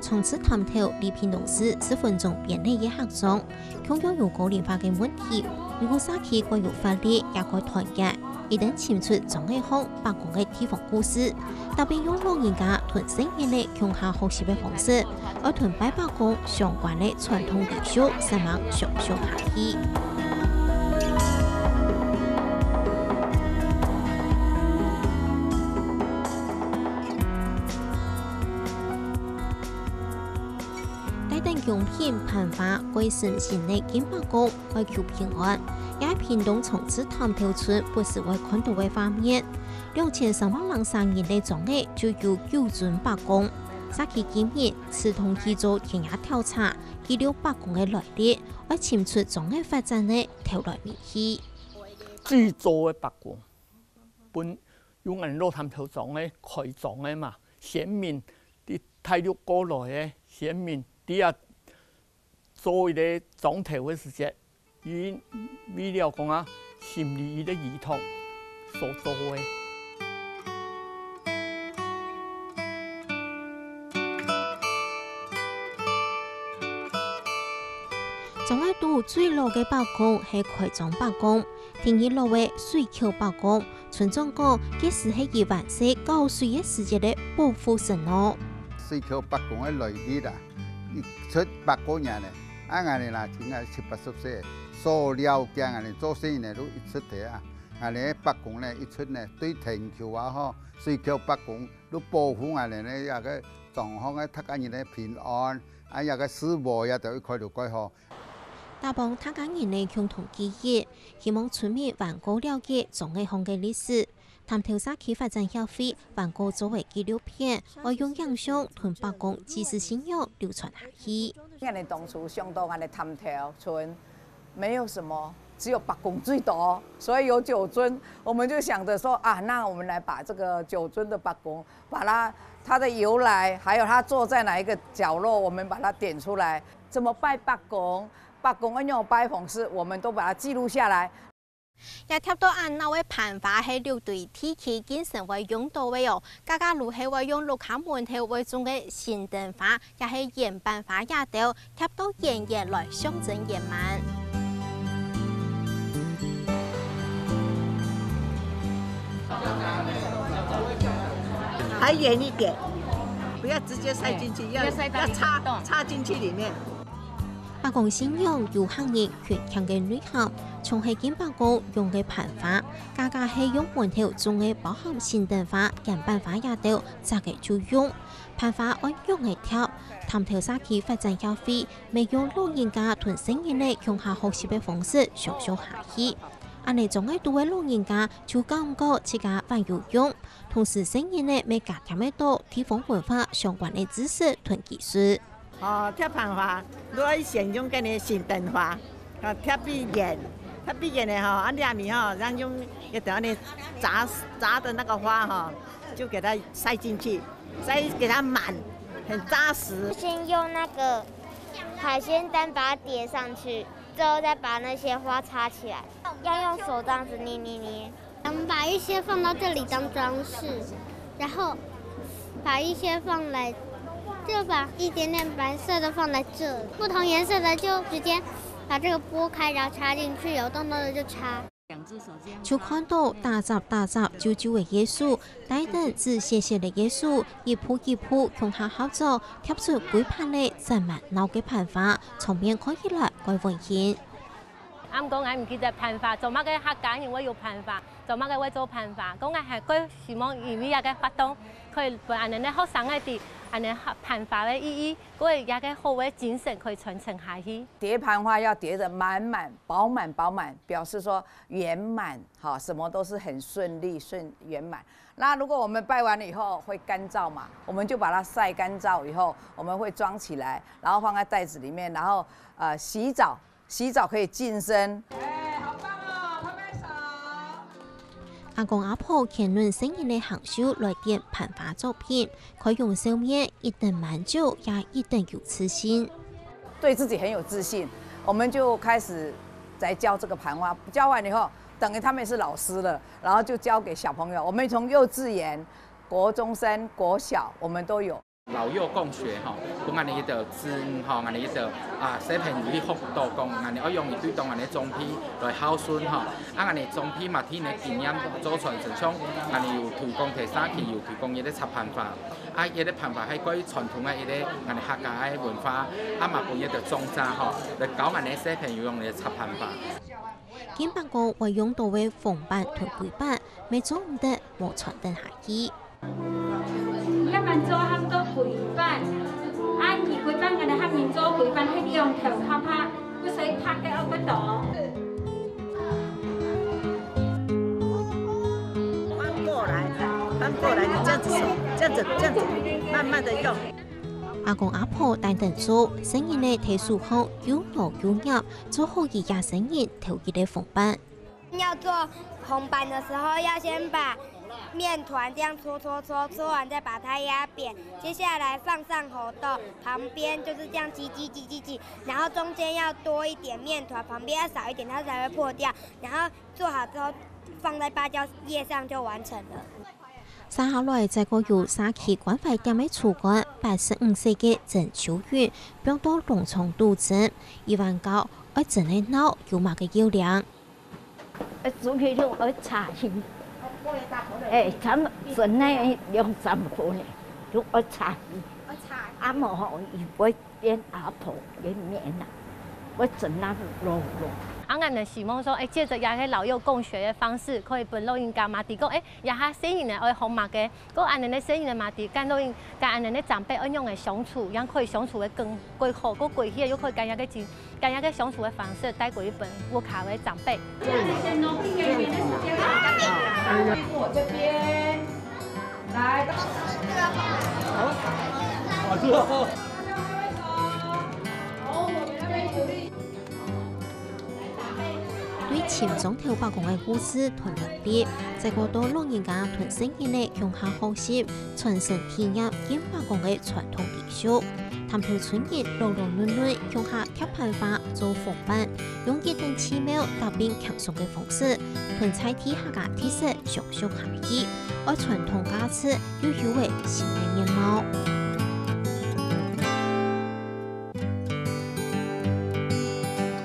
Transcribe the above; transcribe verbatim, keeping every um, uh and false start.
長治潭頭離屏東市十分鐘便利个客庄，共樣有高齡化个問題，毋過社區蓋有活力，也蓋團結。一旦尋出庄仔項伯公个地方故事，特別用老人家同細人仔共下學習个方式，愛同拜伯公相關个傳統禮俗，煞猛相續下去。 帶等供品、盤花、貴生新仔敬伯公，愛求平安，也係屏東長治潭頭村不時會看到个畫面。兩千三百零三人个庄仔就有九尊伯公。社區居民自動去做田野調查，記錄伯公个來歷，愛尋出庄仔發展个頭來尾去。最早个伯公，本有𠊎老潭頭庄个開庄个嘛，先民佇大陸過來个先民，佇遐做一個庄頭个時節，佢為了講啊，心裡一個依託所做个。庄仔肚最老个伯公係開庄伯公，第二老个水口伯公， 村長講，該時係佢還細搞水个時節个保護神哦。水口伯公个來歷啊，一出百過年呢，啊，𠊎等啦，今年七八十歲，所了解𠊎等做生意呢，都一出个啊。𠊎等伯公呢，一出呢，對天橋啊吼，水口伯公都保護𠊎等呢，這個狀況个，大家人呢平安，啊，這個事務也都開到蓋好。 打幫大家人个共同記憶，希望村民還過了解庄仔項个歷史。潭頭社區發展協會還過做个紀錄片，愛用影像同伯公祭祀信仰流傳下去。𠊎等當初想到𠊎等潭頭村沒有什麼，只有伯公最多，所以有九尊，我們就想著說啊，那我們來把這個九尊的伯公 把它，它的由來，還有它坐在哪一個角落，我們把它點出來。怎麼拜伯公，伯公愛仰般拜方式，我們都把它記錄下來。這貼到恁鬧个盤花係六堆地區經常會用到个哦，家家都係會用屋下門頭會種个新燈花，也係圓盤花這兜， 貼到圓圓來象徵圓滿。還遠一點，不要直接塞進去，要，要塞到裡面。要插，插進去裡面。伯公信仰有客人勤儉个內涵，像係敬伯公用个盤花，家家係用門頭種个包含新燈花、圓盤花這兜，摘个就用。 盤花愛仰仔貼，潭頭社區發展協會乜用老人家同細人仔共下學習个方式相續下去。恁仔庄仔肚个老人家就感覺自家還有用，同時細人仔乜加添得到地方文化相關个知識同技術。哦，貼盤花，你愛先用該个新燈花，啊，貼比較遠，貼比較遠个吼，啊，這面吼，然後用一條恁仔扎，扎的那個花吼，就給它塞進去。 再給它滿，很扎實。先用那個海鮮單把它疊上去，最後再把那些花插起來，要用手這樣子捏捏捏。我們把一些放到這裡當裝飾，然後把一些放來，就把一點點白色的放在這，不同顏色的就直接把這個撥開，然後插進去，有洞洞的就插。 就看到打雜打雜、皺皺个耶穌，帶等紫雪雪个耶穌，一步一步共下合作，貼出歸盤仔紮滿鬧个盤花，場面看起來蓋溫馨。啊，毋過𠊎毋記得盤花，做麼个客家人會有盤花，做麼个會做盤花？講𠊎還蓋希望因為這個活動，可以分恁仔个學生仔知恁仔盤花个意義，過這個好个精神可以傳承下去。疊盤花要疊得滿滿、飽滿、飽滿，表示說 圓滿，哈，什麼都是很順利、順，圓滿。那如果我們拜完了以後會乾燥嘛，我們就把它曬乾燥以後，我們會裝起來，然後放在袋子裡面，然後，呃，洗澡，洗澡可以淨身。哎，好棒哦，拍拍手。阿公阿婆牽等細人仔个行手來點盤花作品， 開容笑面，一等滿足，也一等有自信。對自己很有自信，我們就開始來教這個盤花。教完以後，等於他們也是老師了，然後就教給小朋友。我們從幼稚園、國中生、國小，我們都有。老幼共學吼，分𠊎等一个子女吼，𠊎等一个啊小朋友去學到講，𠊎等愛用一對當𠊎等个長輩來孝順吼，啊𠊎等長輩嘛，聽个經驗做傳承，像𠊎等有推廣提社區，有推廣一个插盤花，啊一个盤花係關於傳統个一个𠊎等客家个文化，啊嘛分一个種茶吼，來教𠊎等个小朋友用个插盤花。金伯公會用到个紅粄同桂粄，乜做毋得無傳承下去。 你愛滿做喊做桂粄，啊，你桂粄，𠊎等客人做桂粄，係用頭殼拍，毋使拍个，愛个刀。翻過來，翻過來，你這樣子手，這樣子，這樣子，慢慢的用。阿公阿婆帶等做，細人仔在手項又摸又捏，做好一家細人頭一个紅粄。 要做紅粄的時候，要先把麵團這樣搓搓搓，搓完再把它壓扁。接下來放上猴豆，旁邊就是這樣擠擠擠擠擠，然後中間要多一點麵團，旁邊要少一點，它才會破掉。然後做好之後，放在芭蕉葉上就完成了。接下來，再過由社區關懷店个主管，八十五歲个曾秀雲，放到農場肚蒸，一碗糕愛蒸个鬧有麼个要領。 欸，煮起就愛茶去。欸，咱們蒸个兩三分呢，就愛茶去。啊，無吼，伊會變阿婆个面啊，會蒸啊落落。啊，𠊎等希望說，欸，藉著這个老幼共學个方式，可以分老人家嘛，知講，欸，這下細人仔愛學麼个， 過恁樣个細人仔嘛，知講老人，佮恁樣个長輩愛仰仔相處，樣可以相處个更，過好，過過去又可以佮這个親，佮這个相處个方式帶過去分屋下个長輩。我這邊，來，好，好，好。 對尋莊頭伯公个故事同來歷，再過到老人家同細人仔共下學習，傳承體驗敬伯公个傳統禮俗。探頭村人勞勞碌碌共下貼盤花做紅粄，用一等奇妙搭配輕鬆个方式，同在地客家特色相續下去，愛傳統價值又有个新个面貌。